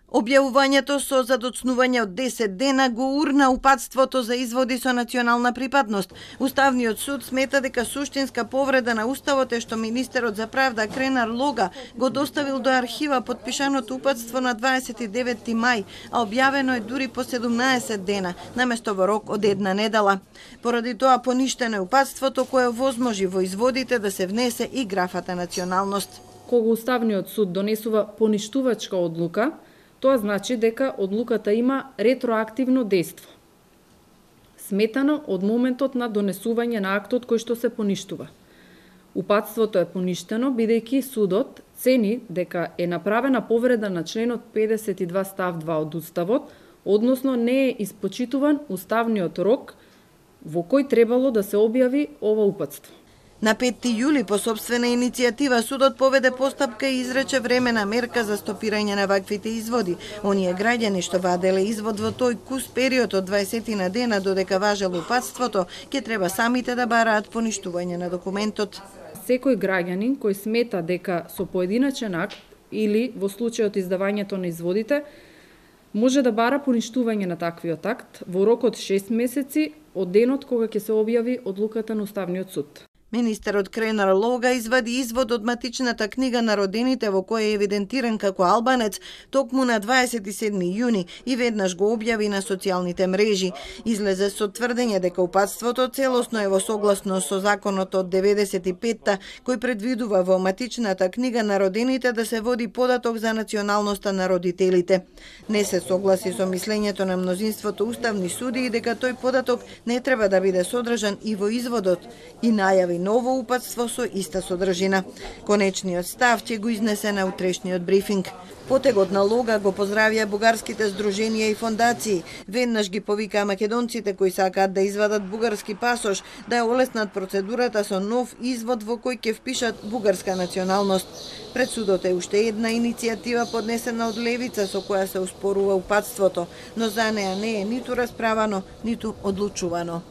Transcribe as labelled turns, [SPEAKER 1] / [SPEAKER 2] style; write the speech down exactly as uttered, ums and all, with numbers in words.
[SPEAKER 1] Објавувањето со задоцнување од десет дена го урна упатството за изводи со национална припадност. Уставниот суд смета дека суштинска повреда на Уставот е што министерот за правда Кренар Лога го доставил до архива подпишаното упатство на дваесет и деветти мај, а објавено е дури по седумнаесет дена, наместо во рок од една недела. Поради тоа поништено е упатството кое возможи во изводите да се внесе и графата националност.
[SPEAKER 2] Кога Уставниот суд донесува поништувачка одлука, тоа значи дека одлуката има ретроактивно дејство, сметано од моментот на донесување на актот кој што се поништува. Упатството е поништено бидејќи судот цени дека е направена повреда на членот педесет и два став два од Уставот, односно не е испочитуван уставниот рок во кој требало да се објави ова упатство.
[SPEAKER 1] На петти јули по сопствена иницијатива судот поведе постапка и изрече времена мерка за стопирање на ваквите изводи. Оние граѓани што ваделе извод во тој кус период од дваесет на дена додека важело упатството, ќе треба самите да бараат поништување на документот.
[SPEAKER 2] Секој граѓанин кој смета дека со поединачен акт или во случајот издавањето на изводите може да бара поништување на таквиот акт во рок од шест месеци од денот кога ќе се објави одлуката на Уставниот суд.
[SPEAKER 1] Министерот Кренар Лога извади извод од матичната книга на родените во која е евидентиран како албанец токму на дваесет и седми јуни и веднаш го објави на социјалните мрежи. Излезе со тврдење дека упатството целосно е во согласно со законот од деветдесет и петта кој предвидува во матичната книга на родените да се води податок за националноста на родителите. Не се согласи со мислењето на мнозинството уставни судии дека тој податок не треба да биде содржан и во изводот и најави ново упатство со иста содржина. Конечниот став ќе го изнесе на утрешниот брифинг. Потегот на Лога го поздравија бугарските здруженија и фондации. Веднаш ги повикаа македонците кои сакаат да извадат бугарски пасош да ја олеснат процедурата со нов извод во кој ќе впишат бугарска националност. Пред судот е уште една иницијатива поднесена од левица со која се успорува упатството, но за неа не е ниту расправано, ниту одлучувано.